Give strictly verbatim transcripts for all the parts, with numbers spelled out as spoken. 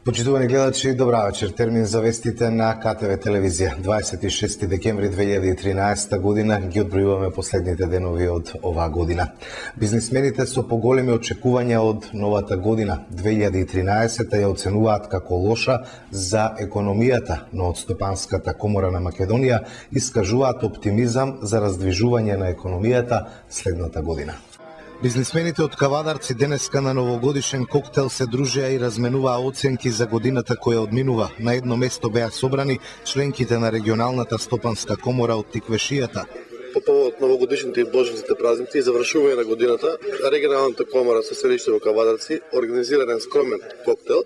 Почитувани гледачи, добра вечер. Термин за вестите на К Т В телевизија. дваесет и шести декември две илјади и тринаесета година ги одбројуваме последните денови од оваа година. Бизнисмените со поголеми очекувања од новата година две илјади и тринаесета ја оценуваат како лоша за економијата, но од Стопанската комора на Македонија искажуваат оптимизам за раздвижување на економијата следната година. Бизнисмените од Кавадарци денеска на новогодишен коктел се дружеа и разменуваа оценки за годината која одминува. На едно место беа собрани членките на регионалната стопанска комора од Тиквешијата. По повод новогодишните и божниците празници и завршување на годината, регионалната комора со седиште во Кавадарци организира еден скромен коктел.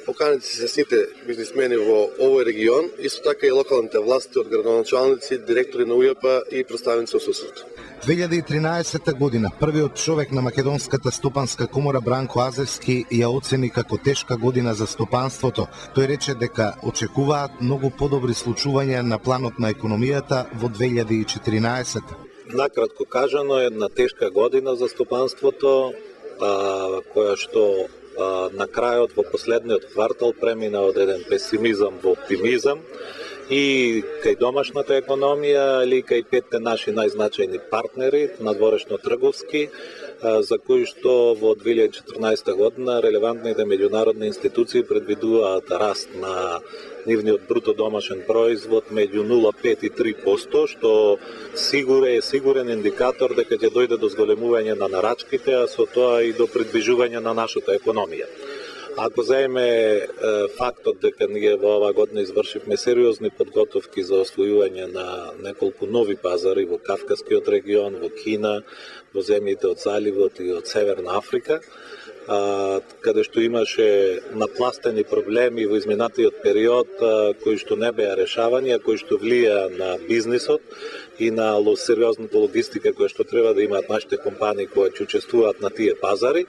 Поканети се сите бизнисмени во овој регион, исто така и локалните власти од градоначалници, директори на У Ј П и представници од суседство. две илјади и тринаесета година првиот човек на Македонската стопанска комора Бранко Азевски ја оцени како тешка година за стопанството. Тој рече дека очекуваат многу подобри случувања на планот на економијата во две илјади и четиринаесета. Накратко кажано, една тешка година за стопанството, а, која што а, на крајот во последниот квартал премина од еден песимизам во оптимизам и кај домашната економија, или кај петте наши најзначајни партнери, надворешно трговски, за кои што во две илјади и четрнаесета година релевантните меѓународни институции предвидуваат раст на нивниот бруто домашен производ меѓу нула целу пет и три проценти, што сигурен е сигурен индикатор дека ќе дојде до зголемување на нарачките, а со тоа и до придвижување на нашата економија. Ако заеме е, фактот дека ние во оваа година извршивме сериозни подготовки за освојување на неколку нови пазари во Кавказскиот регион, во Кина, во земјите од Заливот и од Северна Африка, а, каде што имаше напластени проблеми во изминатиот период, а, кои што не беа решавани, а кои што влија на бизнисот и на сериозната логистика која што треба да имаат нашите компании кои ќе учествуваат на тие пазари.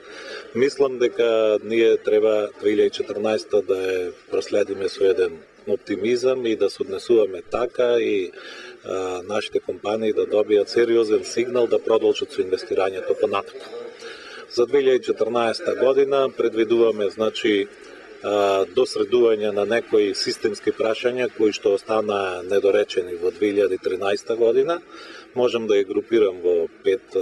Мислам дека ние треба две илјади и четрнаесета да ја проследиме со еден оптимизам и да се однесуваме така и а, нашите компании да добијат сериозен сигнал да продолжат со инвестирањето понатаму. За две илјади и четрнаесета година предвидуваме, значи, досредување на некои системски прашања кои што останаа недоречени во две илјади и тринаесета година. Можам да ја групирам во пет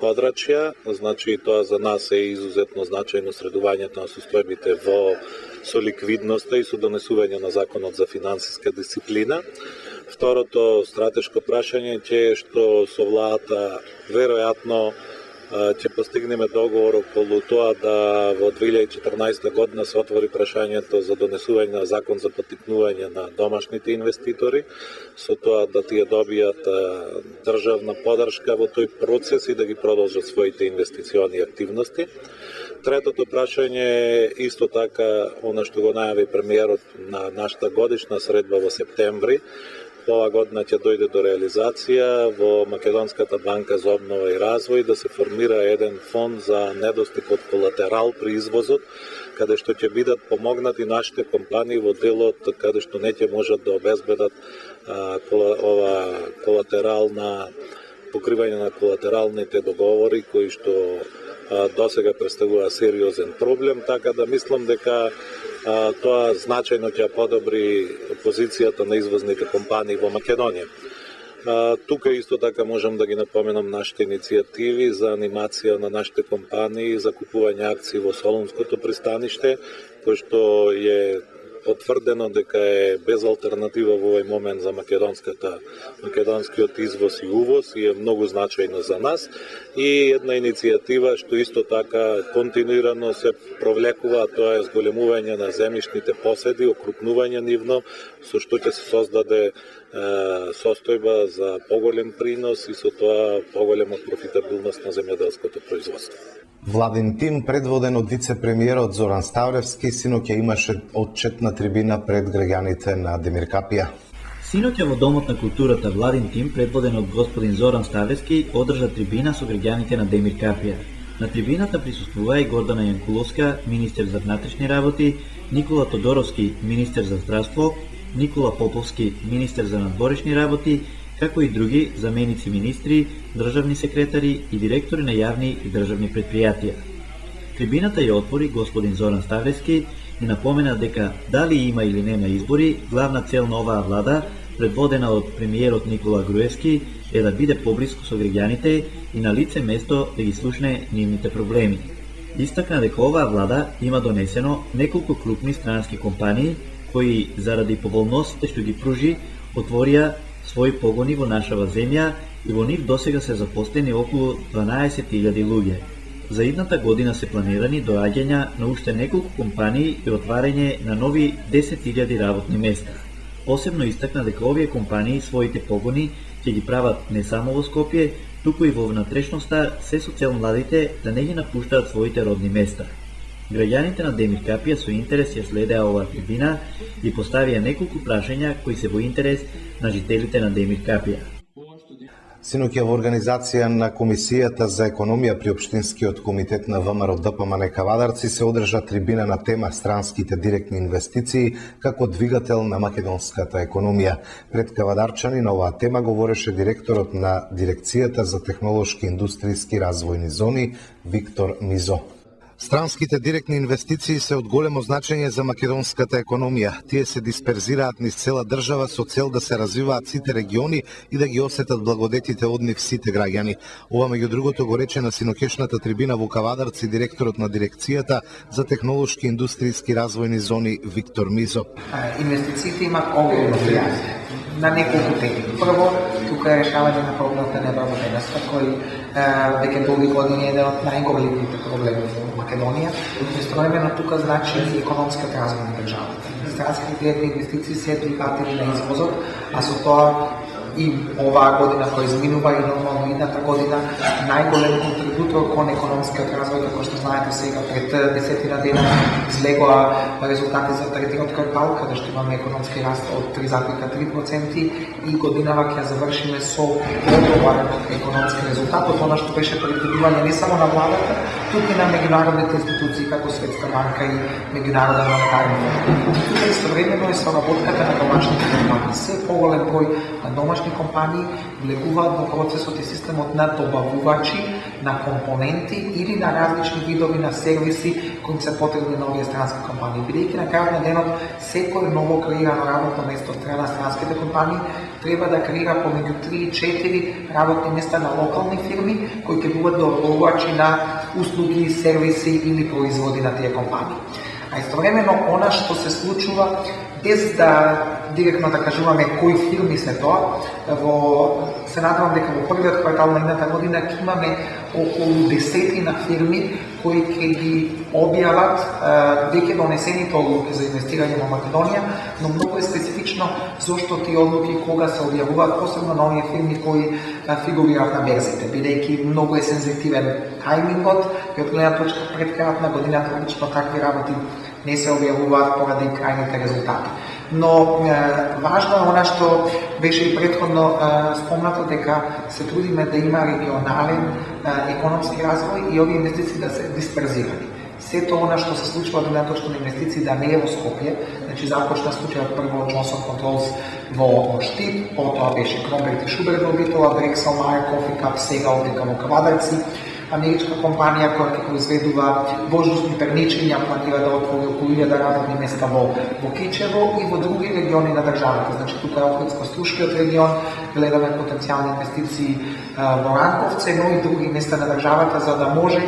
подрачја. Значи, тоа за нас е изузетно значајно средувањето на состојбите во со ликвидноста и со донесување на законот за финансиска дисциплина. Второто стратешко прашање е што со владата веројатно ќе постигнеме договор околу тоа да во две илјади и четрнаесета година се отвори прашањето за донесување на закон за поттикнување на домашните инвеститори, со тоа да тие добијат државна поддршка во тој процес и да ги продолжат своите инвестициони активности. Третото прашање е исто така она што го најави премиерот на нашата годишна средба во септември. Ова година ќе дојде до реализација во Македонската банка за обнова и развој да се формира еден фонд за недостиг од колатерал при извозот, каде што ќе бидат помогнати нашите компании во делот каде што не ќе можат да обезбедат а, кола, ова колатерална покривање на колатералните договори кои што а, досега представува сериозен проблем, така да мислам дека а, тоа значајно ќе подобри позицијата на извозните компании во Македонија. А, тука исто така можам да ги напоменам нашите иницијативи за анимација на нашите компании за купување акции во Солунското пристаниште, кој што е потврдено дека е без алтернатива во овој момент за македонската македонскиот извоз и увоз и е многу значајно за нас. И една иницијатива што исто така континуирано се провлекува, тоа е зголемување на земјишните поседи, окрупнување нивно, со што ќе се создаде е, состојба за поголем принос и со тоа поголема профитабилност на земјоделското производство. Владин тим, предводен од вице-премиерот Зоран Ставлевски, синоќа имаше отчетна трибина пред граѓаните на Демиркапија. Синоќа во Домот на културата Владин тим, предводен од господин Зоран Ставлевски, одржа трибина со граѓаните на Демиркапија. На трибината присуствува и Гордана Јанкуловска, министер за внатрешни работи, Никола Тодоровски, министер за здравство, Никола Поповски, министер за надворешни работи, како и други заменици министри, државни секретари и директори на јавни и државни предпријатија. Трибината ја отвори господин Зоран Ставлевски и напомена дека дали има или нема избори, главна цел на оваа влада, предводена од премиерот Никола Груевски, е да биде поблиску со граѓаните и на лице место да ги слушне нивните проблеми. Истакна дека оваа влада има донесено неколку крупни странски компании кои заради поволностите што ги пружи отворија своји погони во нашава земја и во нив досега се запослени околу дванаесет илјади луѓе. За идната година се планирани доаѓања на уште неколку компании и отварање на нови десет илјади работни места. Посебно истакна дека овие компании своите погони ќе ги прават не само во Скопје, туку и во внатрешноста, се со цел младите да не ги напуштаат своите родни места. Граѓаните на Демир Капија со интерес ја следеа оваа трибина и поставија неколку прашања кои се во интерес на жителите на Демир Капија. Синоќа во организација на Комисијата за економија при Општинскиот комитет на ВМРО ДПМН Кавадарци се одржа трибина на тема странските директни инвестиции како двигател на македонската економија. Пред кавадарчани на оваа тема говореше директорот на Дирекцијата за технолошки индустријски развојни зони Виктор Мизо. Странските директни инвестиции се од големо значење за македонската економија. Тие се дисперзираат низ цела држава со цел да се развиваат сите региони и да ги осетат благодетите од нив сите граѓани. Ова меѓу другото го рече на синокешната трибина во Кавадарци директорот на Дирекцијата за технолошки индустријски развојни зони Виктор Мизо. Инвестициите имат огромно влијание на неколку теми. Прво, тука е решавање на проблемот на невработеноста, кој веќе долги години е еден од најголемите проблеми во Македонија. Истовремено тука значи и економската развој на државата. Странските директни инвестиции се двигатели на извозот, а со тоа и оваа година која изминува и нормално идната година најголем контрибутор кон економскиот развој, како што знаете сега пред десетина дена излегоа резултати за третиот квартал, каде што имаме економски раст од три зарез три проценти и годинава ќе завршиме со добар економски резултат, од она што беше предвидување не само на владата, туку и на меѓународните институции како Светска банка и Меѓународен монетарен фонд. Тука истовремено е соработката на домашните компании. Се поголем број на домашни компании влегуваат во процесот и системот на добавувачи на компоненти или на различни видови на сервиси кои се потребни на овие странски компании. Бидејќи на крајот на денот секој ново креирано работно место од страна на странските компании треба да креира помеѓу три и четири работни места на локални фирми кои ќе бидат добавувачи на услуги, сервиси или производи на тие компании. А истовремено она што се случува, без да директно да кажуваме кои фирми се тоа, во се надевам дека во првиот квартал на едната година ќе имаме околу десетина фирми кои ќе ги објават веќе донесените одлуки за инвестирање во Македонија, но многу е специфично зошто тие одлуки кога се објавуваат, посебно на оние фирми кои фигурираат на берзите, бидејќи многу е сензитивен тајмингот и од гледна точка пред крајот на годината обично такви работи не се објавуваат поради крајните резултати. Но е, важно е она што беше и претходно е, спомнато, дека се трудиме да има регионален е, економски развој и овие инвестиции да се дисперзирани. Сето она што се случува до гледна точка на инвестиции да не е во Скопје, значи започна случајот прво од Джонсон Контролс во Штип, потоа беше Кромберг и Шуберт во Битола, Дрексел, Майер, Кофи Кап, сега овдека во Кавадарци. Америчка компанија која ќе произведува воздушни пернички, планира да отвори околу илјада работни места во, во Кичево и во други региони на државата. Значи тука е Охридско-Струшкиот регион, гледаме потенцијални инвестиции а, во Ранковце, но и други места на државата, за да може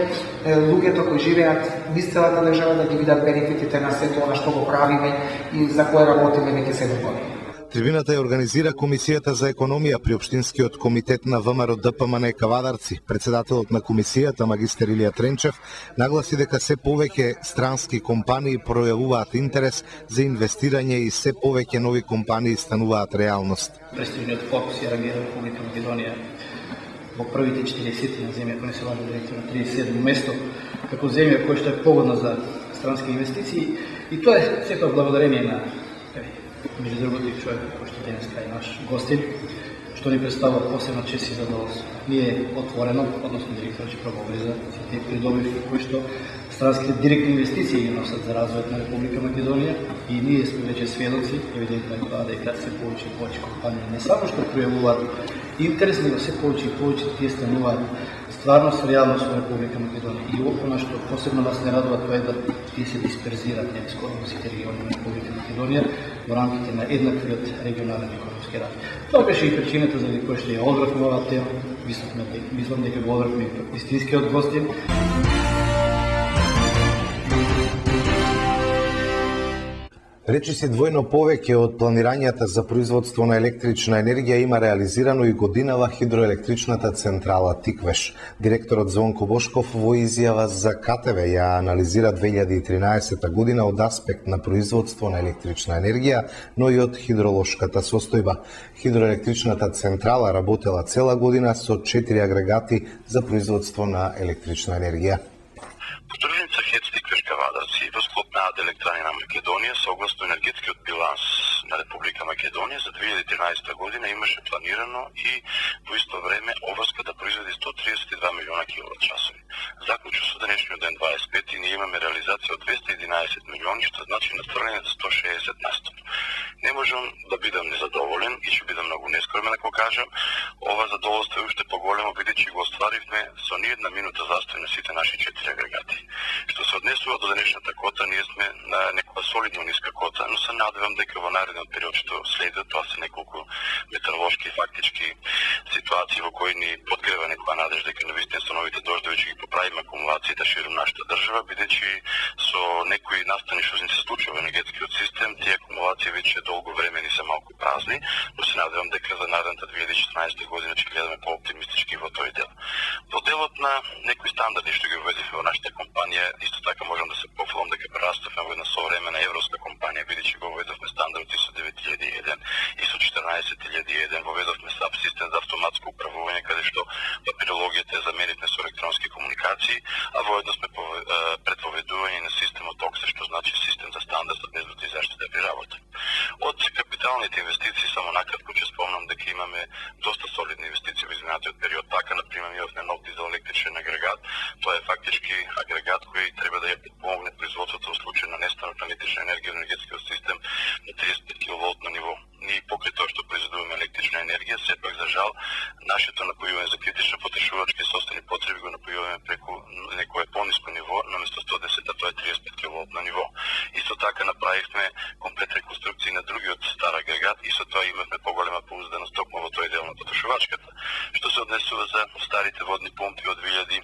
е, луѓето кои живеат низ целата држава да ги видат бенефитите на сето она што го правиме и за кое работиме веќе седум години. Трибината ја организира Комисијата за економија при Општинскиот комитет на ВМРО ДПМН Кавадарци. Председателот на комисијата, магистер Илија Тренчев, нагласи дека се повеќе странски компании пројавуваат интерес за инвестирање и се повеќе нови компании стануваат реалност. Престижниот фокус ја реагира Република Македонија во првите четириесет на земја која се важи директор на триесет и седмо место, како земја која што е погодна за странски инвестиции, и тоа е сето благодарение на меѓу другото и човек кој што денеска е наш гостин, што ни представува посебна чест и задоволство. Ние отворено, односно директорот ќе проговори за сите придобивки кои што странските директни инвестиции ги носат за развојот на Република Македонија и ние сме веќе сведоци, евидентно е тоа дека се повеќе и повеќе компании не само што пројавуваат интерес, него се повеќе и повеќе тие стануваат стварност и реалност во Република Македонија. И она што посебно нас не радува тоа е да тие се дисперзираат не скоро во сите региони на Република Македонија во рамките на еднаквиот регионален економски развој. Тоа беше и причината заради која што ја одбравме оваа тема. Мислам дека го одбравме вистинскиот гостин. Речи се двојно повеќе од планирањата за производство на електрична енергија има реализирано и годинава хидроелектричната централа Тиквеш. Директорот Звонко Бошков во изјава за К Т В ја анализира две илјади и тринаесета година од аспект на производство на електрична енергија, но и од хидролошката состојба. Хидроелектричната централа работела цела година со четири агрегати за производство на електрична енергија. Подружница ХЕЦ Тиквешка Вадарци во склоп на Електроени на Македонија согласно енергетскиот биланс на Република Македонија за две илјади и тринаесета година имаше планирано и во исто време оврска да произведе сто триесет и два милиона киловат часови. Заклучно со денешниот ден дваесет и пети ние имаме реализација од двесте и единаесет милиони, што значи настврвање за сто шеесет на сто. Не можам да бидам незадоволен и ќе бидам многу нескромен ако кажам, ова задоволство е уште поголемо бидејќи го остваривме со ни една минута застој на сите наши четири агрегати. Што се однесува до денешната кота, ние сме на некоја солидно ниска кота, но се надевам дека во наредниот период што следува, тоа се неколку метеоролошки и фактички ситуации во кои ни подгрева некоја надежда дека навистина со новите дождови ќе ги поправиме акумулациите широм нашата држава, бидејќи со некои настани што ни се случува во енергетскиот систем, тие акумулации веќе долго време ни се малку празни, но се надевам дека за наредната две илјади и четрнаесета година ќе гледаме по-оптимистички во тој дел. Во делот на некои стандарди што ги уведивме во нашата компанија, исто така можам да се пофалам дека прераставме во една современа европска компанија, бидејќи го уведовме стандард ИСО девет илјади и еден, ИСО четрнаесет илјади и еден, воведовме САП систем за автоматско управување, каде што папирологијата ја заменивме со електронски комуникации, а воедно сме предвоведување на системот ОКСЕ, што значи систем за стандард за безбедност и заштита при работа. Од капиталните инвестиции само накратко ќе спомнам дека имаме доста солидни инвестиции во изминатиот период. Така на пример имавме нов дизелелектричен агрегат. Тоа е фактички агрегат кој треба да ја подпомогне производството во случај на нестанок на електрична енергија во енергетскиот систем на триесет и пет киловолтно ниво. Ние покрај тоа што произведуваме електрична енергија, сепак за жал нашето напојување за критична потрошувачка и собствени потреби го напојуваме преку некое пониско ниво, наместо сто десет, тоа е триесет и пет киловолтно ниво. Исто така направивме комплет реконструкција на другиот стар агрегат и со тоа имавме поголема поузданост токму во тој дел на потрошувачката. Што се однесува за старите водни помпи од две илјади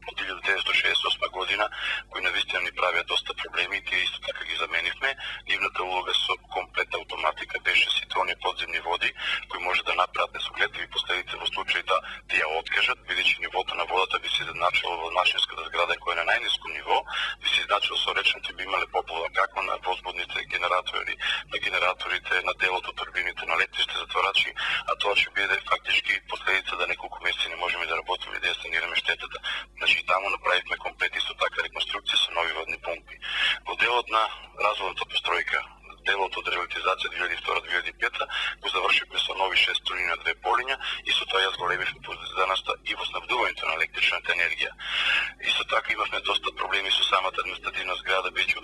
од илјада деветстотини шеесет и осма година, кои навистина ни правеа доста проблеми, тие исто така ги заменивме. Нивната улога со комплет автоматика беше сите оние подземни води кои може да направат несогледливи последици во случај да ти ја откажат, бидејќи нивото на водата би се изедначило во машинската зграда која е на најниско ниво, би се изедначило со речните, би имале поплава како на возбудните генератори, на генераторите, на делото турбините, на летиште затворачи, а тоа ќе биде фактички последица да неколку месеци не можеме да работиме и да ја санираме штетата. Значи таму направивме комплет исто така реконструкција со нови водни помпи. Во делот на разводната постројка, делот од ревитализација две илјади и втора - две илјади и пета го завршивме со нови шест струни на две полиња и со тоа ја зголемивме поврзаноста и во снабдувањето на електричната енергија. Исто така имавме доста проблеми со самата административна зграда, бидејќи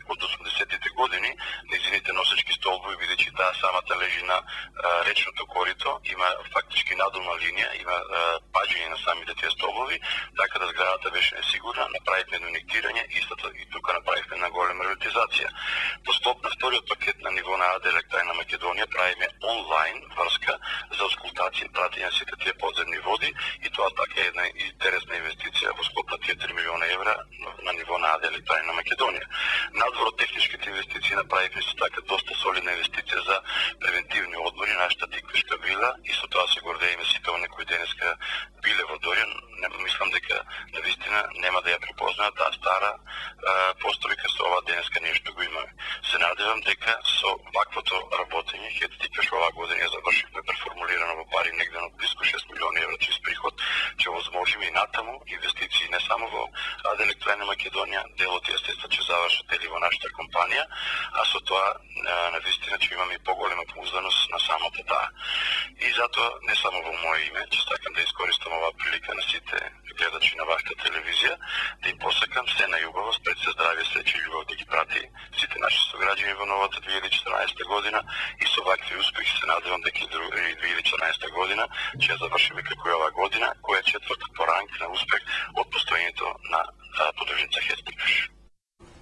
од осумдесетите години нејзините носечки столбови, бидејќи таа самата лежи на а, речното корито, има фактички надолна линија, има а, паѓање на самите тие столбови, така да зградата беше несигурна, направивме инектирање и и тука направивме на голема ревитализација. По склоп на вториот пакет на ниво на АД Електроени на Македонија правиме онлайн врска за аускултација и пратење на сите тие подземни води и тоа така е една интересна инвестиција во склоп на четири милиона евра на ниво на АД Електроени на Македонија. Надвор од техничките инвестиции направивме со така доста солидна инвестиција за превентивни одмори на нашата Тиквешка вила и со тоа се гордееме сите оние кои денеска биле во Дорјан. Мислам дека навистина нема да ја препознаат таа стара постројка со ова денеска нешто го имаме. Се надевам дека со ваквото работење ХЕЦ Тиквеш оваа година ја завршивме преформулирано во пари негде на близко шест милиони евра чист приход, ќе возможиме и натаму инвестиции не само во АД Електроени на Македонија, делот естествено ќе завршат или во нашата компанија, а со тоа навистина ќе имаме и поголема поузданост на самата таа. И затоа не само во моје име, че сакам да искористам оваа прилика на сите гледачи на вашата телевизија, да им посакам се најубаво, спред се здравје, среќа и љубов да ги прати сите наши сограѓани во новата две илјади и четиринаесета година и со вакви успехи се надевам дека и две илјади и четиринаесета година ќе ја завршиме како и оваа година, која е четврта по ранг на успех од постоењето на подружница Хестикаш.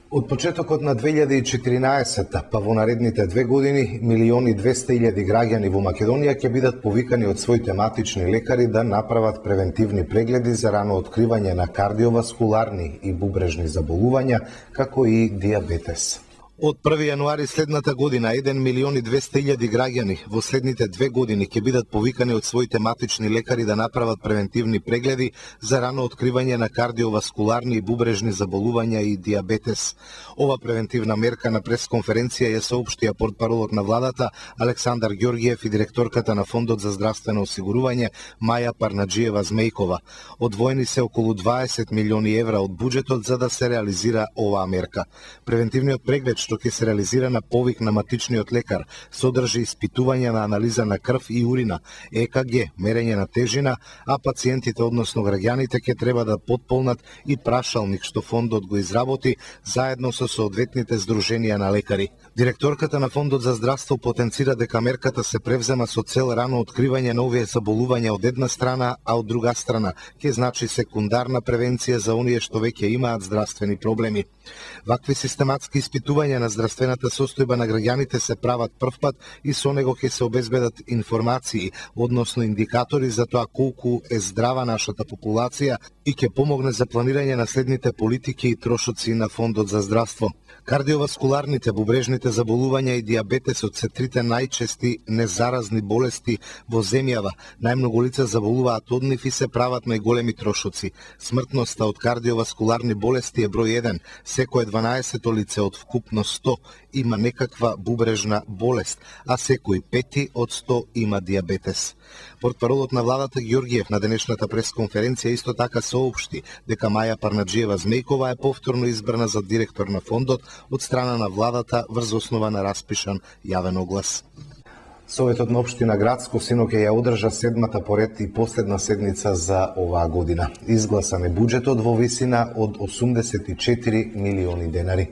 Од почетокот на две илјади и четиринаесета па во наредните две години, милиони и двесте илјади граѓани во Македонија ќе бидат повикани од своите матични лекари да направат превентивни прегледи за рано откривање на кардиоваскуларни и бубрежни заболувања, како и диабетес. Од први јануари следната година, еден милион и двесте илјади граѓани во следните две години ќе бидат повикани од своите матични лекари да направат превентивни прегледи за рано откривање на кардиоваскуларни и бубрежни заболувања и диабетес. Ова превентивна мерка на пресконференција ја соопштија портпаролот на владата Александар Ѓоргиев и директорката на Фондот за здравствено осигурување Маја Парнаџиева Змејкова. Одвоени се околу дваесет милиони евра од буџетот за да се реализира оваа мерка. Превентивниот преглед што ќе се реализира на повик на матичниот лекар, содржи испитување на анализа на крв и урина, Е К Г, мерење на тежина, а пациентите, односно граѓаните, ќе треба да потполнат и прашалник што фондот го изработи заедно со соодветните здруженија на лекари. Директорката на Фондот за здравство потенцира дека мерката се превзема со цел рано откривање на овие заболувања од една страна, а од друга страна ќе значи секундарна превенција за оние што веќе имаат здравствени проблеми. Вакви систематски испитувања на здравствената состојба на граѓаните се прават првпат и со него ќе се обезбедат информации, односно индикатори за тоа колку е здрава нашата популација и ќе помогне за планирање на следните политики и трошоци на Фондот за здравство. Кардиоваскуларните, бубрежните заболувања и диабетесот се трите најчести незаразни болести во земјава. Најмногу лица заболуваат од нив и се прават најголеми трошоци. Смртноста од кардиоваскуларни болести е број еден. Секое дванаесето лице од вкупно сто има некаква бубрежна болест, а секој пети од сто има диабетес. Портпаролот на владата Ѓоргиев на денешната пресконференција исто така соопшти дека Маја Парнаџиева Змејкова е повторно избрана за директор на фондот од страна на владата врз основа на распишан јавен оглас. Советот на општина Градско синоќа ја одржа седмата поред и последна седница за оваа година. Изгласан е буџетот во висина од осумдесет и четири милиони денари.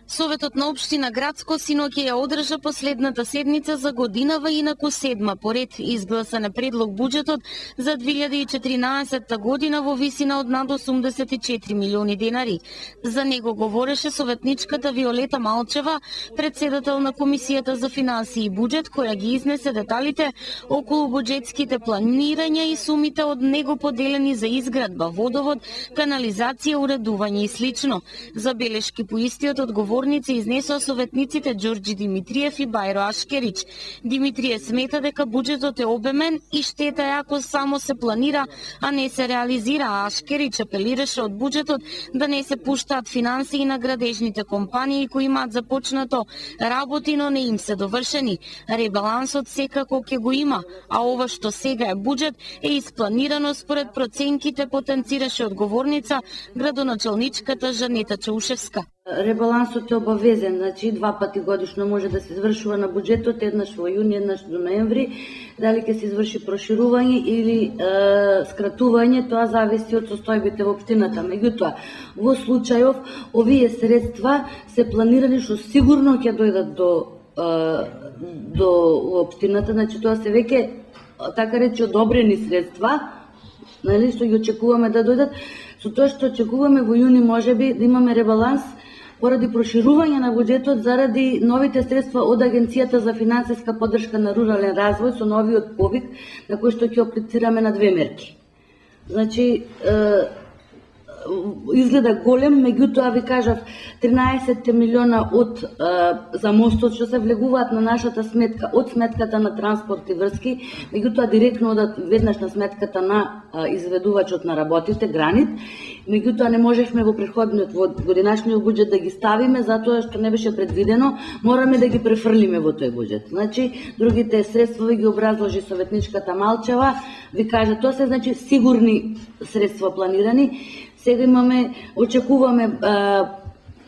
Советот на општина Градско синоќа ја одржа последната седница за годинава инаку седма поред. Изгласан е предлог буџетот за две илјади и четиринаесета година во висина од над осумдесет и четири милиони денари. За него говореше советничката Виолета Малчева, председател на Комисијата за финансии и буџет, која ги изнесе деталите околу буџетските планирања и сумите од него поделени за изградба, водовод, канализација, уредување и слично. Забелешки по истиот одговор Горници изнесоа советниците Ѓорѓи Димитриев и Бајро Ашкерич. Димитриев смета дека буџетот е обемен и штета е ако само се планира, а не се реализира, а Ашкерич апелираше од буџетот да не се пуштаат финансии на градежните компании кои имаат започнато работи, но не им се довршени. Ребалансот секако ќе го има, а ова што сега е буџет е испланирано според проценките, потенцираше одговорница градоначалничката Жанета Чаушевска. Ребалансот е обавезен, значи два пати годишно може да се извршува на буџетот, еднаш во јуни, еднаш до ноември. Дали ќе се изврши проширување или е, скратување, тоа зависи од состојбите во општината. Меѓутоа, во случајов овие средства се планирани што сигурно ќе дојдат до е, до општината, значи тоа се веќе така речи одобрени средства, нали, што ги очекуваме да дојдат. Со тоа што очекуваме во јуни можеби да имаме ребаланс поради проширување на буџетот заради новите средства од Агенцијата за финансиска поддршка на рурален развој со новиот повик на кој што ќе аплицираме на две мерки. Значи, е, изгледа голем, меѓутоа ви кажав тринаесет милиона од е, за мостот што се влегуваат на нашата сметка од сметката на транспорт и врски, меѓутоа директно одат веднаш на сметката на е, изведувачот на работите Гранит. Меѓутоа не можевме во претходниот во годинашниот буџет да ги ставиме затоа што не беше предвидено, мораме да ги префрлиме во тој буџет. Значи другите средства ги образложи советничката Малчева, ви кажа тоа се значи сигурни средства планирани. Сега имаме, очекуваме а,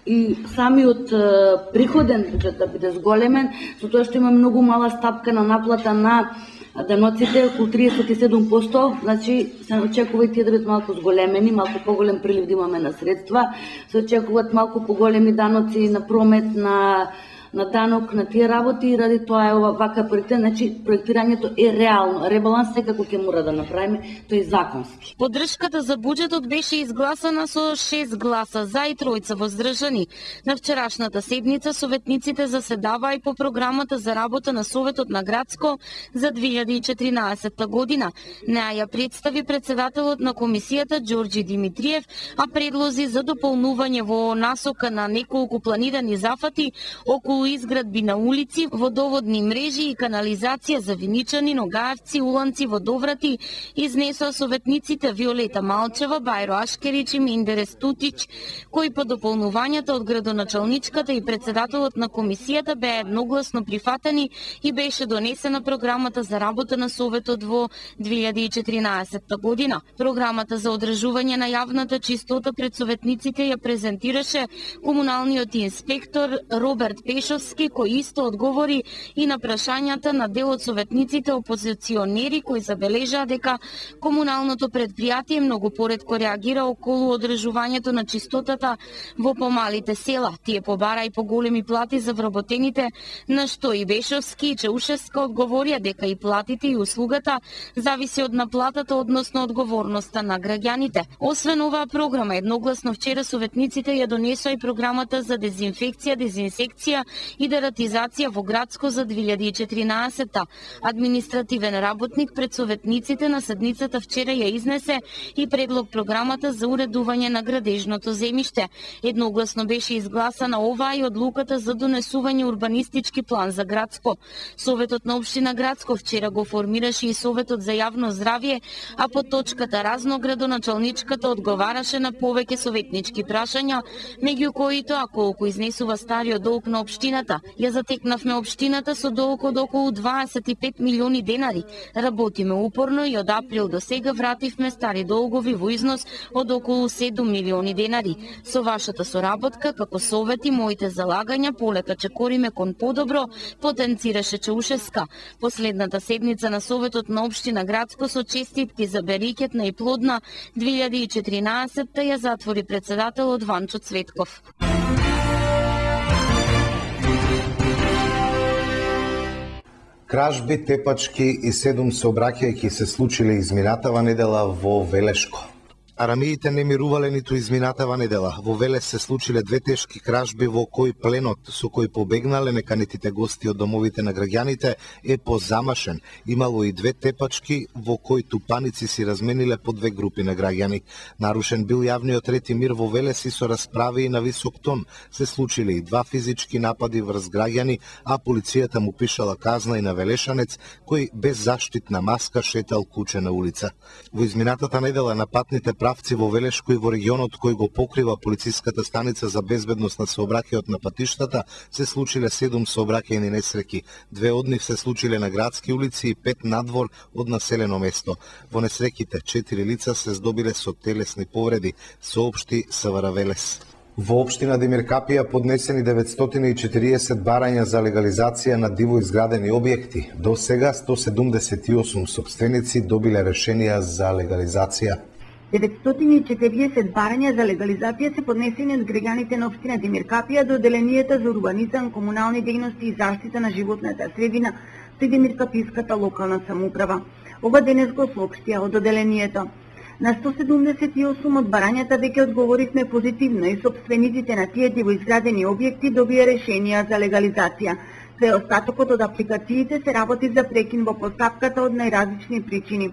и самиот а, приходен буџет да биде зголемен, со тоа што има многу мала стапка на наплата на А даноците околу триесет и седум проценти, значи се очекува и тие да бидат малку зголемени, малку поголем прилив да имаме на средства, се очекуваат малку поголеми даноци на промет, на на данок на тие работи и ради тоа е ова вака проектирање, значи проектирањето е реално. Ребаланс секако ќе мора да направиме, тој е законски. Поддршката за буџетот беше изгласана со шест гласа за и тројца воздржани. На вчерашната седница советниците заседаваа и по програмата за работа на Советот на Градско за две илјади и четиринаесетта година. Неа ја представи председателот на комисијата Ѓорѓи Димитриев, а предлози за дополнување во насока на неколку планирани зафати околу изградби на улици, водоводни мрежи и канализација за Виничани, Ногаевци, Уланци, Водоврати, изнесоа советниците Виолета Малчева, Бајро Ашкерич и Миндерес Тутич, кои по дополнувањата од градоначалничката и председателот на комисијата беа едногласно прифатени и беше донесена програмата за работа на Советот во две илјади и четиринаесетта година. Програмата за одржување на јавната чистота пред советниците ја презентираше комуналниот инспектор Роберт Пешовски, кој исто одговори и на прашањата на дел од советниците опозиционери кои забележаа дека комуналното предпријатие многу поретко реагира околу одржувањето на чистотата во помалите села. Тие побара и поголеми плати за вработените, на што и Бешовски и Чаушевска одговорија дека и платите и услугата зависи од наплатата, односно одговорноста на граѓаните. Освен оваа програма, едногласно вчера советниците ја донесоа и програмата за дезинфекција, дезинсекција и дератизација во Градско за две илјади и четиринаесетта. Административен работник пред советниците на седницата вчера ја изнесе и предлог програмата за уредување на градежното земјиште. Едногласно беше изгласана оваа и одлуката за донесување урбанистички план за Градско. Советот на општина Градско вчера го формираше и Советот за јавно здравје, а по точката разно градоначалничката одговараше на повеќе советнички прашања, меѓу кои тоа колку изнесува стариот долг на општината. Ја затекнавме општината со долг од околу дваесет и пет милиони денари. Работиме упорно и од април до сега вративме стари долгови во износ од околу седум милиони денари. Со вашата соработка, како совет и моите залагања, полека чекориме кон подобро, потенцираше Чаушевска. Последната седница на Советот на општина Градско со честитки за берикетна и плодна две илјади и четиринаесетта ја затвори председателот Ванчо Цветков. Кражби, тепачки и седум сообраќајки се случиле изминатава недела во Велешко. Арамиите не мирувале ниту изминатава недела. Во Велес се случиле две тешки кражби во кои пленот со кој побегнале неканетите гости од домовите на граѓаните е позамашен. Имало и две тепачки во кои тупаници си размениле по две групи на граѓани. Нарушен бил јавниот ред и мир во Велес и со расправи и на висок тон. Се случиле и два физички напади врз граѓани, а полицијата му пишала казна и на велешанец кој без заштитна маска шетал куче на улица. Во изминатата недела на патните правци во Велешко и во регионот кој го покрива полициската станица за безбедност на сообраќајот на патиштата се случиле седум сообраќајни несреќи. Две од нив се случиле на градски улици и пет надвор од населено место. Во несреќите четири лица се здобиле со телесни повреди, соопшти СВР Велес. Во општина Демир Капија поднесени деветстотини и четириесет барања за легализација на диво изградени објекти. До сега сто седумдесет и осум сопственици добиле решенија за легализација. деветстотини и четириесет барања за легализација се поднесени од граѓаните на општина Демир Капија до Одделенијата за урбанизам, комунални дејности и заштита на животната средина при Демиркаписката локална самоуправа. Ова денес го соопштија од Одделенијата. На сто седумдесет и осум од барањата веќе одговоривме позитивно и сопствениците на тие дивоизградени објекти добија решенија за легализација. Преостатокот од апликациите се работи за прекин во постапката од најразлични причини.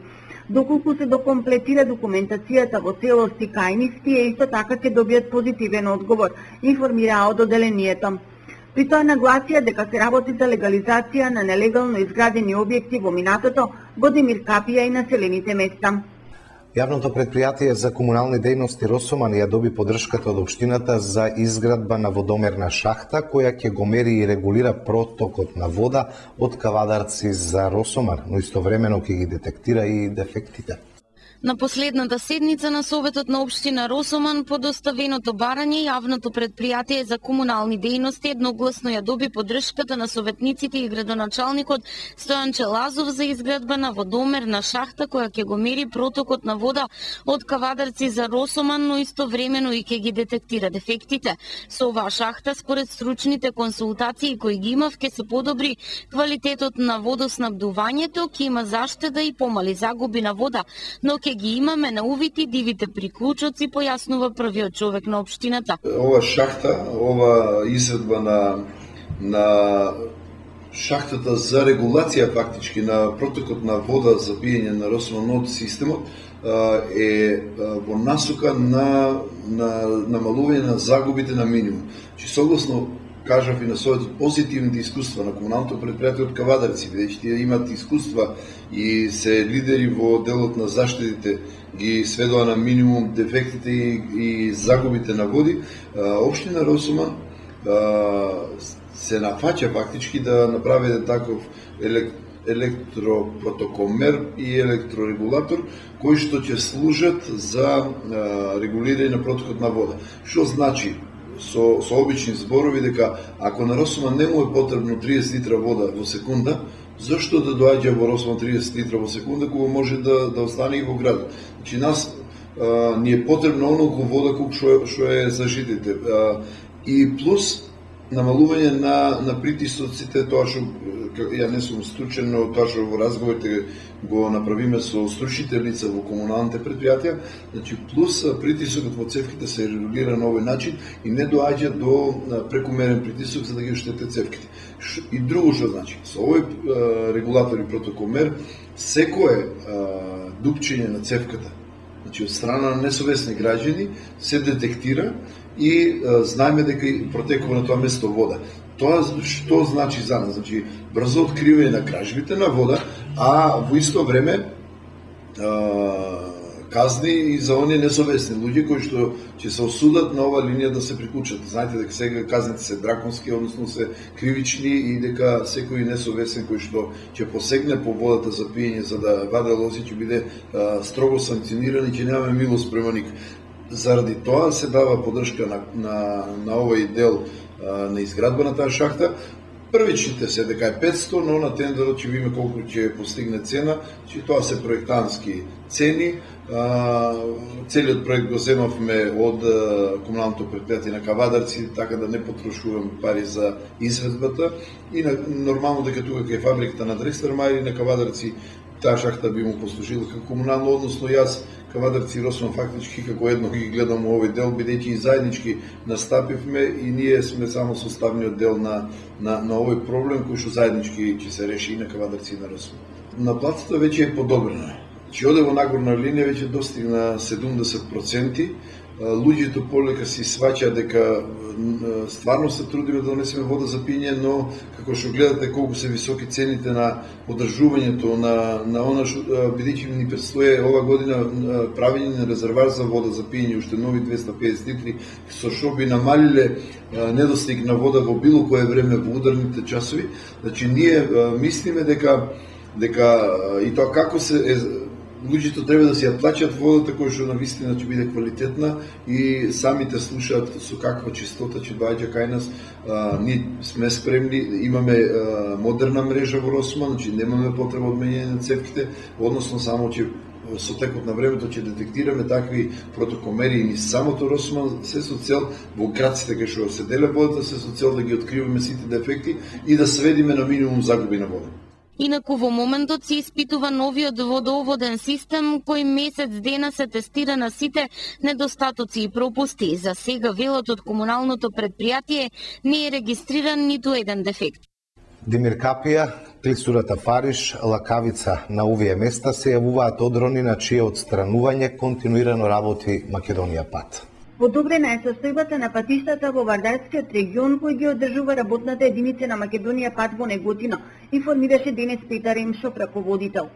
Доколку се докомплетира документацијата во целост и кај нив, тие исто така ќе добијат позитивен одговор, информираа од Одделенијата. При тоа нагласија дека се работи за легализација на нелегално изградени објекти во минатото во Демир Капија и населените места. Јавното предпријатие за комунални дејности Росоман ја доби поддршката од општината за изградба на водомерна шахта која ќе го мери и регулира протокот на вода од Кавадарци за Росоман, но истовремено ќе ги детектира и дефектите. На последната седница на Советот на Општина Росоман по доставеното барање, јавното предпријатие за комунални дејности едногласно ја доби поддршката на советниците и градоначалникот Стојан Челазов за изградба на водомерна шахта која ќе го мери протокот на вода од Кавадарци за Росоман, но истовремено и ќе ги детектира дефектите. Со оваа шахта, според стручните консултации кои ги имав, ќе се подобри квалитетот на водоснабдувањето, ќе има заштеда и помали загуби на вода, но ќе ги имаме на увид и дивите приклучоци, појаснува првиот човек на општината. Ова шахта, ова изvedба на на шахтата за регулација фактички на протокот на вода за пиење на Росоман од системот е во насока на на намалување на загубите на минимум. Че согласно кажав и на својот позитивните искуства на комуналното предпријатие од Кавадарци, бидејќи тие имаат искуства и се лидери во делот на заштедите, ги сведува на минимум дефектите и, и загубите на води, општина Росоман се нафаќа фактички да направи еден таков елект, електропротокомер и електрорегулатор кои што ќе служат за регулирање на протокот на вода. Што значи со, со обични зборови дека ако на Росоман не му е потребно триесет литра вода во секунда, зашто да доаѓа во Росоман триесет литра во секунда кога може да, да остане и во градот? Значи нас а, ни е потребно онолку вода колку што, што е за жителите. А, и плюс намалување на, на притисоците, тоа што ја не сум стручен, но тоа што во разговорите го направиме со стручните лица во комуналните предпријатија, значи плюс притисокот во цевките се регулира на овој начин и не доаѓа до прекумерен притисок за да ги оштете цевките. И друго што значи, со овој регулатор и протокомер, секое дупчење на цевката, значи од страна на несовесни граѓани, се детектира и знаеме дека протекува на тоа место вода. Тоа што значи за нас? Значи брзо откривање на кражбите на вода, а во исто време казни и за оние несовесни луѓе кои што ќе се осудат на ова линија да се приклучат. Знаете дека сега казните се драконски, односно се кривични и дека секој несовесен кој што ќе посегне по водата за пиење за да ваде лози ќе биде а, строго санкциониран и ќе немаме милост према никој. Заради тоа се дава поддршка на, на, на овој дел а, на изградба на таа шахта. Првичните се дека е петсто, но на тендерот ќе видиме колку ќе постигне цена, че тоа се проектантски цени. А, целиот проект го земавме од комуналното предпријатие на Кавадарци, така да не потрошуваме пари за изведбата и на, нормално дека тука кај фабриката на Дрекстер-Мајер на Кавадарци таа шахта би му послужила како комунално, односно јас Кавадарци и Росоман фактички како едно ги гледам овој дел, бидејќи и заеднички настапивме и ние сме само составниот дел на, на, на овој проблем кој што заеднички ќе се реши и на Кавадарци и на Росоман. Наплатата веќе е подобрена. Че оде во нагорна линија веќе достигна седумдесет проценти. Луѓето полека си сваќаат дека стварно се трудиме да донесеме вода за пиење, но како што гледате колку се високи цените на поддржувањето на на она што бидејќи ни предстои ова година правење на резервар за вода за пиење, уште нови двеста педесет литри, со што би намалиле недостиг на вода во било кое време во ударните часови. Значи ние мислиме дека дека и тоа како се е, луѓето треба да си ја плаќаат водата која што навистина ќе биде квалитетна и самите слушаат со каква чистота ќе доаѓа кај нас. А, ние сме спремни, имаме а, модерна мрежа во Росоман, значи немаме потреба од менење на цевките, односно само ќе со текот на времето ќе детектираме такви протокомери и ни самото Росоман се со цел во градците кај што се деле водата, се со цел да ги откриваме сите дефекти и да сведиме на минимум загуби на вода. Инаку во моментот се испитува новиот водоводен систем кој месец дена се тестира на сите недостатоци и пропусти. За сега велот од комуналното предпријатие не е регистриран ниту еден дефект. Демир Капија, клисурата Фариш, Лакавица на овие места се јавуваат одрони на чие отстранување континуирано работи Македонија пат. Подобрена е состојбата на патиштата во Вардарскиот регион кој ги одржува работната единица на Македонија пат во Неготино, информираше денес Петар Емшов, раководител.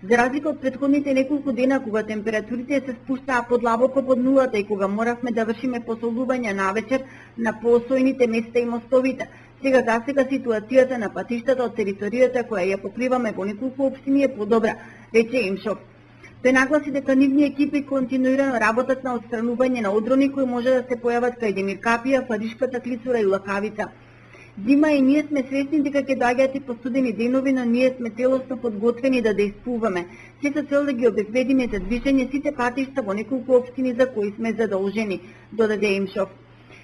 За разлика од претходните неколку дена кога температурите се спуштаа подлабоко под нулата и кога моравме да вршиме посолување навечер на поосојните места и мостовите, сега за сега ситуацијата на патиштата од територијата која ја покриваме во неколку општини е подобра, рече Емшов. Тој нагласи дека нивни екипи континуирано работат на отстранување на одрони кои може да се појават кај Демир Капија, Фаришката клицура и Лакавица. Зима и ние сме свесни дека ќе доаѓаат и постудени денови, но ние сме целосно подготвени да дејствуваме. Се со цел да ги обезбедиме за движење сите патишта во неколку општини за кои сме задолжени, додаде Имшов.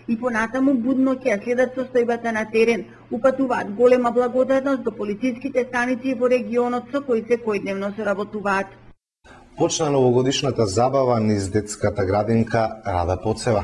И понатаму будно ќе ја следат состојбата на терен. Упатуваат голема благодарност до полициските станици во регионот со кои секојдневно соработуваат. Почна новогодишната забава низ детската градинка Рада Поцева.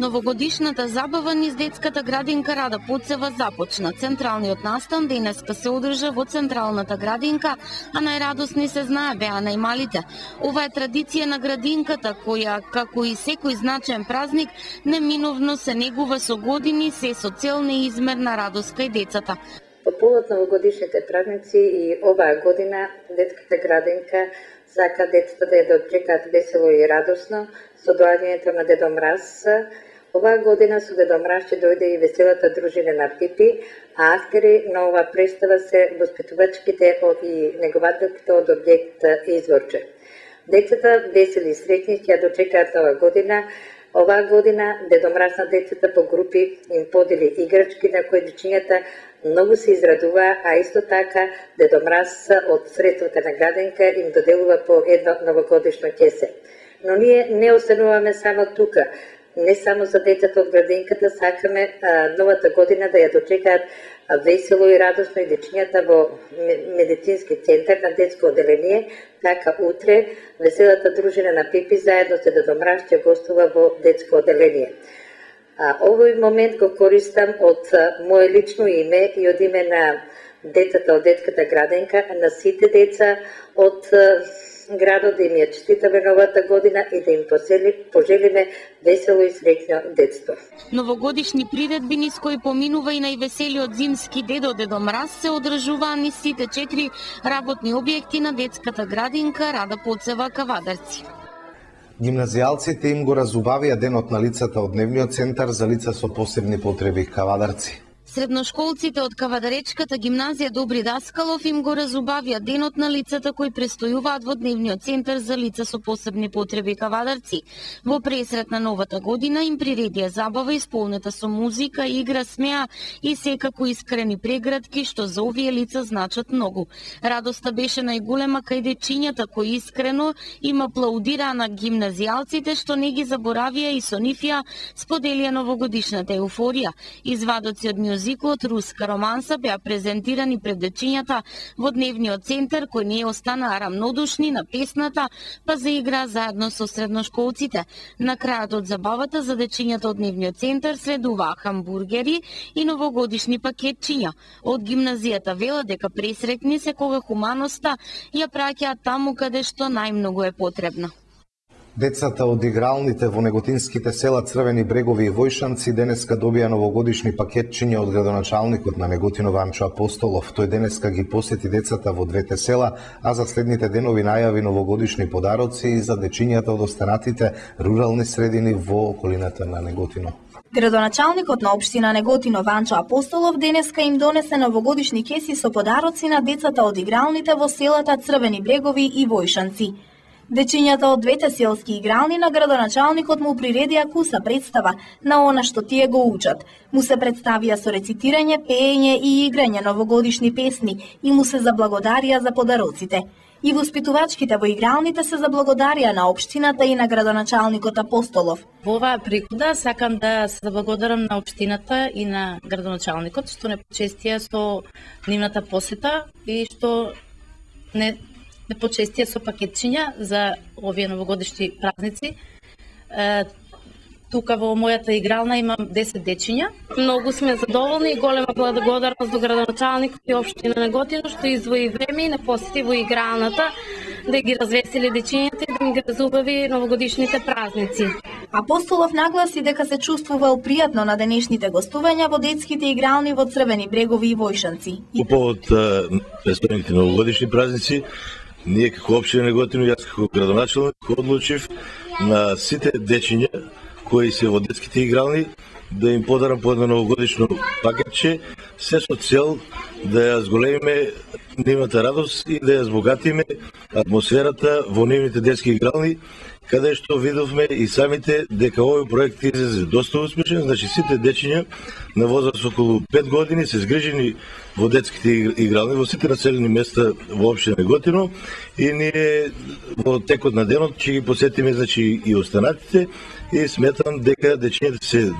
Новогодишната забава низ детската градинка Рада Поцева започна. Централниот настан денеска се одржа во централната градинка, а најрадосни се знае беа најмалите. Ова е традиција на градинката која, како и секој значаен празник, неминовно се негува со години, се со цел неизмерна радост кај децата. По повод новогодишните празници и оваа година детската градинка сака децата да ја дочекаат весело и радосно со доаѓањето на Дедо Мраз. Оваа година со Дедо Мраз ќе дојде и веселата дружина на Пипи, а актери на оваа представа се воспитувачките и негователките од објект Изворче. Децата весели и среќни ќе ја дочекаат оваа година. Оваа година Дедо Мраз на децата по групи им подели играчки на кои дечињата многу се израдува, а исто така Дедо Мраз од средствата на градинка им доделува по едно новогодишно кесе. Но ние не остануваме само тука. Не само за децата од градинката, сакаме а, новата година да ја дочекаат весело и радосно и дечињата во медицински центар на детско оделение. Така утре веселата дружина на Пипи заедно со Дедо Мраз ќе гостува во детско оделение. А, овој момент го користам од а, мое лично име и од име на децата од детската градинка, на сите деца од а, градот, да им ја честитаме новата година и да им пожелиме весело и среќно детство. Новогодишни приредби низ кои поминува и највеселиот зимски дедо Дедо Мраз се одржуваа низ сите четири работни објекти на детската градинка Рада Поцева Кавадарци. Гимназијалците им го разубавија денот на лицата од дневниот центар за лица со посебни потреби Кавадарци. Средношколците од Кавадаречката гимназија Добри Даскалов им го разубавија денот на лицата кои престојуваат во дневниот центар за лица со посебни потреби Кавадарци. Во пресрет на новата година им приредија забава исполнета со музика, игра, смеа и секако искрени прегратки што за овие лица значат многу. Радоста беше најголема кај дечињата кои искрено им аплаудираа на гимназијалците што не ги заборавија и со нив ја споделија новогодишната еуфорија. Извадоци од мюзиклот Руска романса беа презентирани пред дечињата во дневниот центар кои не останаа рамнодушни на песната, па заиграа заедно со средношколците. На крајот од забавата за дечињата од дневниот центар следуваа хамбургери и новогодишни пакетчиња. Од гимназијата велат дека пресреќни се кога хуманоста ја праќаат таму каде што најмногу е потребна. Децата од игралните во неготинските села Црвени брегови и Војшанци денеска добија новогодишни пакетчиња од градоначалникот на Неготино Ванчо Апостолов. Тој денеска ги посети децата во двете села, а за следните денови најави новогодишни подароци и за дечињата од останатите рурални средини во околината на Неготино. Градоначалникот на општина Неготино Ванчо Апостолов денеска им донесе новогодишни кеси со подароци на децата од игралните во селата Црвени брегови и Војшанци. Дечињата од двете селски игрални на градоначалникот му приредија куса представа на она што тие го учат. Му се представија со рецитирање, пеење и играње новогодишни песни и му се заблагодарија за подароците. И воспитувачките во игралните се заблагодарија на општината и на градоначалникот Апостолов. Во оваа пригода сакам да се заблагодарам на општината и на градоначалникот што не почестија со нивната посета и што не не почестија со пакетчиња за овие новогодишни празници. Е, тука во мојата игрална имам десет дечиња. Многу сме задоволни и голема благодарност до градоначалникот и општина Неготино што издвои време и не посети во игралната да ги развесели дечињата и да им ги разубави новогодишните празници. Апостолов нагласи дека се чувствувал пријатно на денешните гостувања во детските игрални во Црвени брегови и Војшанци. По повод престојните новогодишни празници, ние како општина Неготино, јас како градоначалник одлучив на сите дечиња кои се во детските игрални да им подарам по едно новогодишно пакетче, се со цел да ја зголемиме нивната радост и да ја збогатиме атмосферата во нивните детски игрални, каде што видовме и самите дека овој проект излезе доста успешен. Значи сите дечиња на возраст околу пет години се згрижени во детските игрални во сите населени места во општина Неготино и ние во текот на денот ќе ги посетиме, значи, и останатите, и сметам дека дечињата се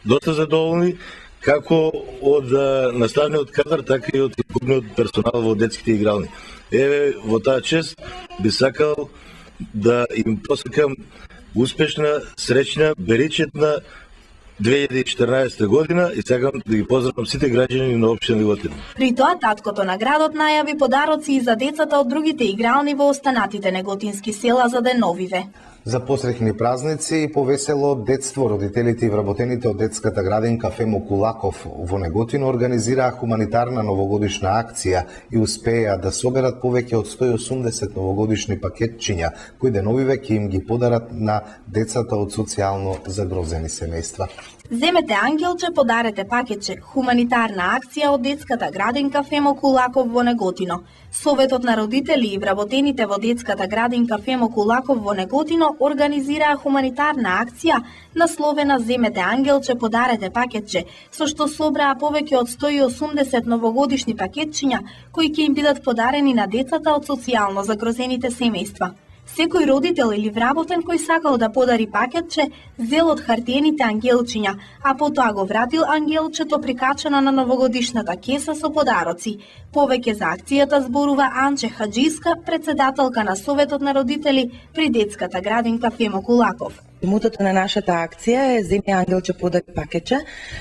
доста задоволни како од наставниот кадар, така и од екипниот персонал во детските игрални. Еве, во таа чест би сакал да им посакам успешна, среќна, беричетна две илјади и четрнаесета година и сакам да ги поздравам сите граѓани на општина Неготино. При тоа таткото на градот најави подароци и за децата од другите игрални во останатите неготински села за деновиве. За посреќни празници и повесело детство, родителите и вработените од детската градинка Фемо Кулаков во Неготино организираа хуманитарна новогодишна акција и успеа да соберат повеќе од сто и осумдесет новогодишни пакетчиња, кои деновиве ќе им ги подарат на децата од социјално загрозени семејства. Земете ангелче, подарете пакетче. Хуманитарна акција од детската градинка Фемо Кулаков во Неготино. Советот на родители и вработените во детската градинка Фемо Кулаков во Неготино организираа хуманитарна акција насловена Земете ангелче, подарете пакетче, со што собраа повеќе од сто и осумдесет новогодишни пакетчиња кои ќе им бидат подарени на децата од социјално загрозените семејства. Секој родител или вработен кој сакал да подари пакетче, зел од хартиените ангелчиња, а потоа го вратил ангелчето прикачено на новогодишната кеса со подароци. Повеќе за акцијата зборува Анче Хаджиска, председателка на Советот на родители при детската градинка Фемо Кулаков. Мотото на нашата акција е Земе ангелче, подари пакетче.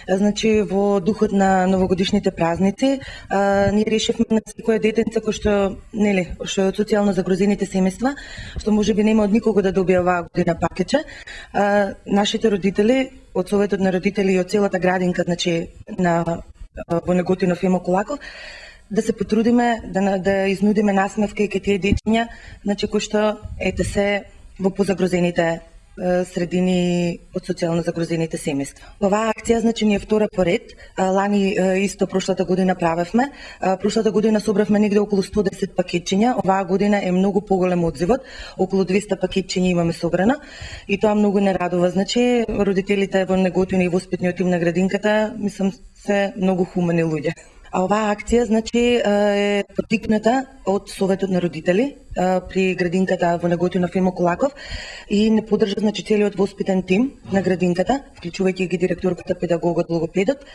Значи во духот на новогодишните празници, а, ние решивме на секој детенце кој што, нели, што е од социјално загрозените семејства, што можеби нема од никого да добие оваа година пакетче. А, нашите родители од Советот на родители и од целата градинка, значи на во Неготино Фемо Кулаков, да се потрудиме да да изнудиме насмевка и кај тие дечиња, значи кои што ете се во позагрозените средини од социјално загрозените семејства. Оваа акција, значи, ни е втора поред. Лани исто прошлата година правевме. Прошлата година собравме негде околу сто и десет пакетчиња. Оваа година е многу поголем одзивот. Околу двеста пакетчиња имаме собрано и тоа многу не радува. Значи, родителите во Неготино и воспитниот тим на градинката, мислам, се многу хумани луѓе. А оваа акција, значи, е поттикната од Советот на родители при градинката во Неготино Фемо Кулаков и не поддржа, значи, целиот воспитен тим на градинката, вклучувајќи ги директорката, педагогот, логопедот.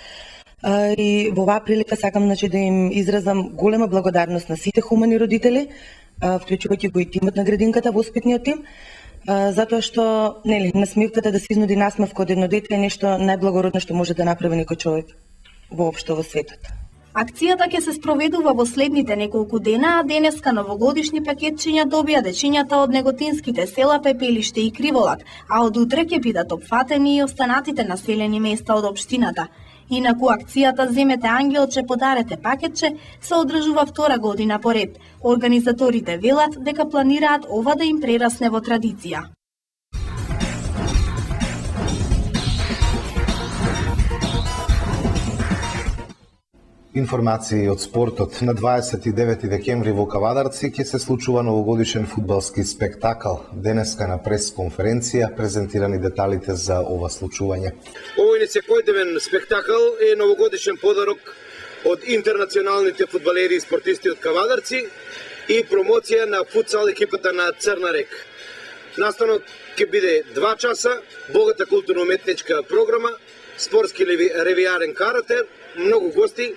И во оваа прилика сакам, значи, да им изразам голема благодарност на сите хумани родители, вклучувајќи го и тимот на градинката, воспитниот тим, затоа што, нели, насмевката да се изнуди насмевка од едно дете е нешто најблагородно што може да направи некој човек воопшто во светот. Акцијата ќе се спроведува во следните неколку дена, а денеска новогодишни пакетчиња добија дечињата од неготинските села Пепелиште и Криволак, а од утре ќе бидат опфатени и останатите населени места од општината. Инаку акцијата Земете ангелче, подарете пакетче се одржува втора година поред. Организаторите велат дека планираат ова да им прерасне во традиција. Информации од спортот. На дваесет и девети декември во Кавадарци ќе се случува новогодишен фудбалски спектакл. Денеска на прес-конференција презентирани деталите за ова случување. Овој несекојдневен спектакл е новогодишен подарок од интернационалните фудбалери и спортисти од Кавадарци и промоција на футсал екипата на Црна река. Настанот ќе биде два часа, богата културно-уметничка програма, спортски ревијарен каратер, многу гости,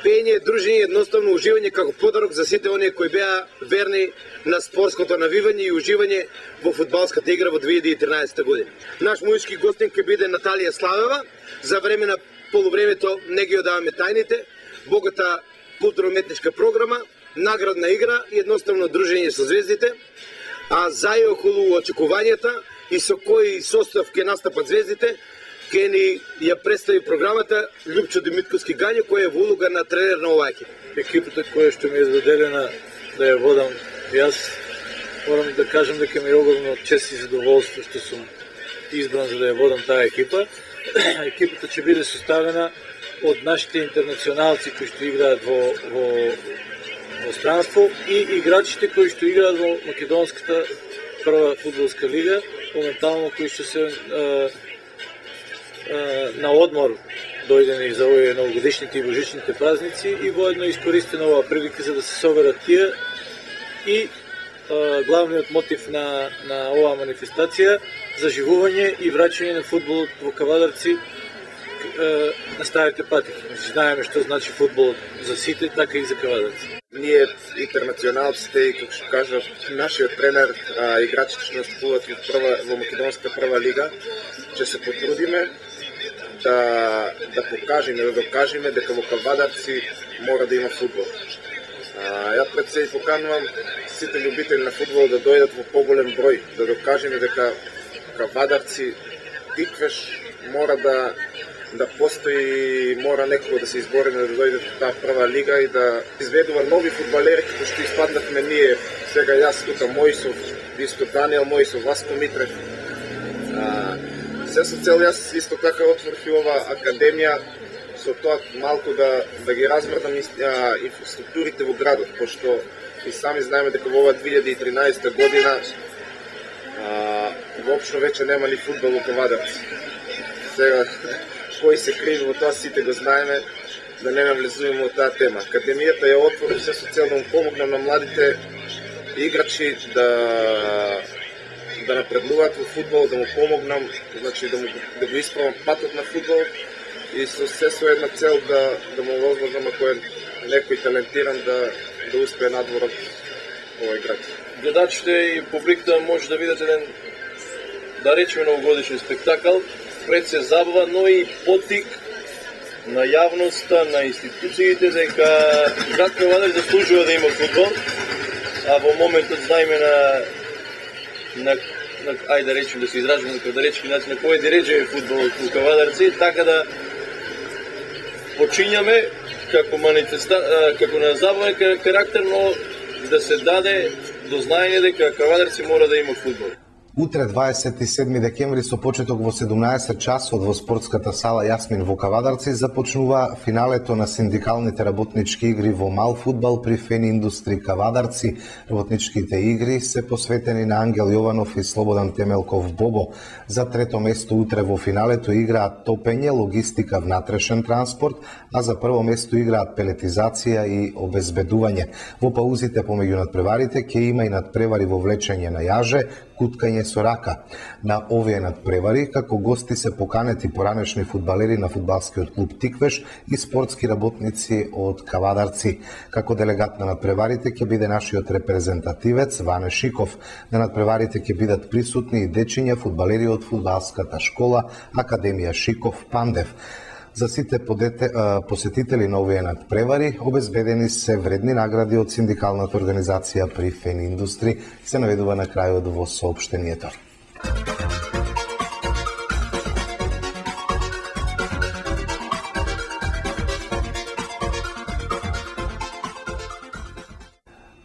пење, дружење, едноставно уживање како подарок за сите оние кои беа верни на спортското навивање и уживање во фудбалската игра во две илјади и тринаесета година. Наш мујшки гостин ќе биде Наталија Славева. За време на полувремето не ги одаваме тајните. Богата културно-уметничка програма, наградна игра и едноставно дружење со звездите. А за и околу очекувањата и со кој состав ќе настапат звездите, ке ни ја представи програмата Лјупчо Димитковски Гањо, кој е во улога на тренер на оваа екипа. Екипата која што ми е заделена да ја водам јас, морам да кажам дека ми е огромно чест и задоволство што сум избран за да ја водам таа екипа. екипата ќе биде составена од нашите интернационалци кои што играат во, во, во странство и играчите кои што играат во македонската прва фудбалска лига, моментално кои што се а, а, на одмор дојдени за овие новогодишните и божичните празници и воедно искористена оваа прилика за да се соберат тие и а, главниот мотив на, на оваа манифестација заживување и враќање на фудбалот во Кавадарци на старите патики. Знаеме што значи фудбалот за сите, така и за Кавадарци. Ние интернационалците и како што кажа нашиот тренер, а, играчите што настапуваат во прва во македонска прва лига, ќе се потрудиме да да покажеме, да докажеме дека во Кавадарци мора да има фудбал. А, ја пред се и поканувам сите љубители на фудбал да дојдат во поголем број, да докажеме дека Кавадарци, Тиквеш мора да да постои, мора некако да се избориме да дојде во таа прва лига и да изведува нови фудбалери како што испаднавме ние, сега јас тука Мојсов, исто Даниел Мојсов, Васко Митрев. А, се со цел јас исто така отворив и ова академија со тоа малку да да ги размрдам инфраструктурите во градот, пошто и сами знаеме дека во ова две илјади и тринаесетта година а, воопшто веќе нема ни фудбал во Кавадарци. Сега кој се криви во тоа сите го знаеме, да не навлезуваме во таа тема. Академијата ја отвори се со цел да му помогнам на младите играчи да да напредуваат во фудбал, да му помогнам, значи да му да го исправам патот на фудбал и со се со една цел да да му возможам ако е некој талентиран да да успее надвор од овој град. Гледачите и публиката може да видат еден, да речеме, новогодишен спектакл, пред се забава, но и потик на јавноста, на институциите дека град Кавадар заслужува да има фудбал, а во моментот знаеме на на, на ајде да речем да се изражаме на кавадаречки начин на кој диреџе фудбал во Кавадарци, така да почињаме како манифеста, како на забавен карактер, но да се даде до знаење дека Кавадарци мора да има фудбал. Утре, дваесет и седми декември, со почеток во седумнаесет часот во спортската сала Јасмин во Кавадарци, започнува финалето на синдикалните работнички игри во мал фудбал при Фен Индустри Кавадарци. Работничките игри се посветени на Ангел Јованов и Слободан Темелков Бобо. За трето место утре во финалето играат топење, логистика, внатрешен транспорт, а за прво место играат пелетизација и обезбедување. Во паузите помеѓу надпреварите ќе има и надпревари во влечење на јаже, куткање со рака. На овие надпревари како гости се поканети поранешни фудбалери на фудбалскиот клуб Тиквеш и спортски работници од Кавадарци. Како делегат на надпреварите ќе биде нашиот репрезентативец Ване Шиков. На надпреварите ќе бидат присутни и дечиња фудбалери од фудбалската школа Академија Шиков Пандев. За сите подете, посетители на овие надпревари обезбедени се вредни награди од синдикалната организација при Фен Индустри, се наведува на крајот во соопштението.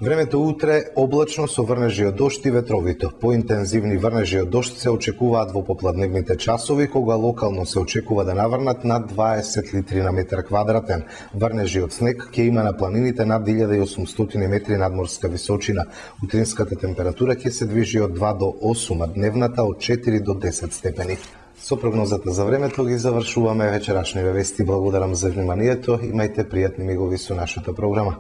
Времето утре облачно со врнежи од дожд и ветровито. Поинтензивни врнежи од дожд се очекуваат во попладневните часови, кога локално се очекува да наврнат над дваесет литри на метар квадратен. Врнежи од снег ќе има на планините над илјада и осумстотини метри надморска височина. Утринската температура ќе се движи од два до осум, а дневната од четири до десет степени. Со прогнозата за времето ги завршуваме вечерашните вести. Благодарам за вниманието. Имајте пријатни мигови со нашата програма.